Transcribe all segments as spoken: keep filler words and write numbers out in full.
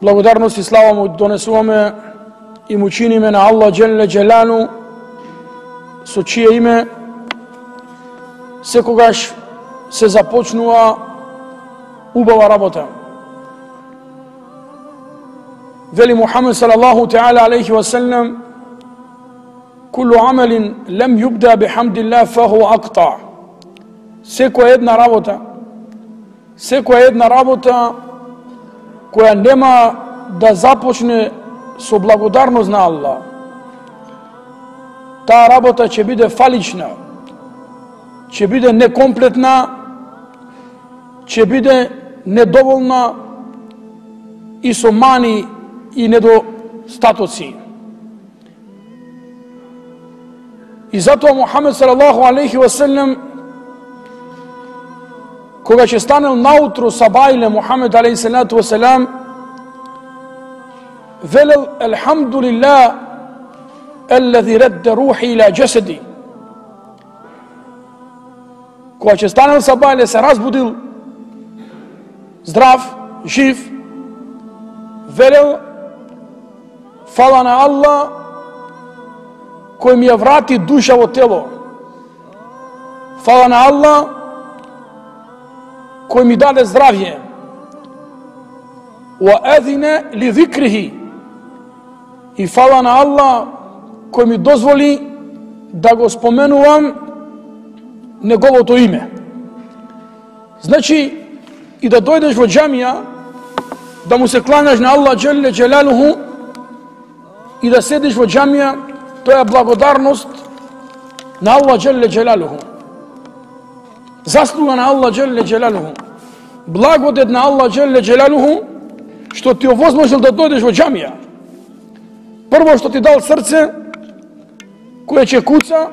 Благодарност и слава му донесуваме и му чиниме на Аллах Джелле Джелану, со чие име секогаш се започнува убава работа. Вели Мухамед салаллаху таала алейхи ва саллям: "Кулу амалин лем юбда бихамдиллах фаху акта." Секоја една работа, секоја една работа која нема да започне со благодарност на Аллах, таа работа ќе биде фалична, ќе биде некомплетна, ќе биде недоволна и со мани и недостатоци. И затоа Мухамед салаллаху алейхи ва саллям, кога ќе станел наутро сабајле Мухамед алейхи салату ва салам, велел: "Елхамдулиллах аллази радда рухи ила джасади." Кога ќе станел сабајле, се разбудил здрав, жив, велел: "Фала на Аллах кој ми ја врати душа во тело. Фала на Аллах кој ми даде здравје. Ва азина ли зикрихи." И фала на Аллах кој ми дозволи да го споменувам неговото име. Значи, и да дојдеш во џамија, да му се кланеш на Аллах Джелле Джелалуху и да седиш во џамија, тоа е благодарност на Аллах Джелле Джелалуху. Заслуга на Аллах Джелле Джелалуху. Благодет на Аллах Джелле Джелалуху што ти овозможил да дојдеш во џамија. Прво што ти дал срце кое ќе куца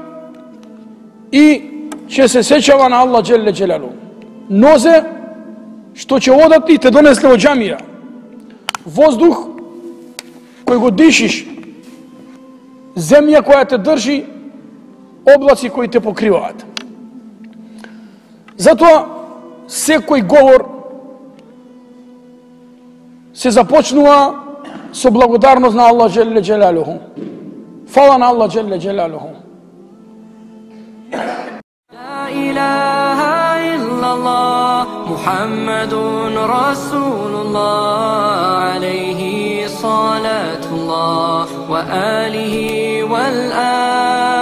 и ќе се сеќава на Аллах Джелле Джелалуху. Нозе што ќе одат и те донесле во џамија. Воздух кој го дишиш, земја која те држи, облаци кои те покриваат. Затоа секој говор се започнува со благодарност на Аллах Джелле Джелалуху. Фала на Аллах Джелле Джелалуху. لا إله إلا الله محمد رسول الله عليه صلاة الله وآله والأحبة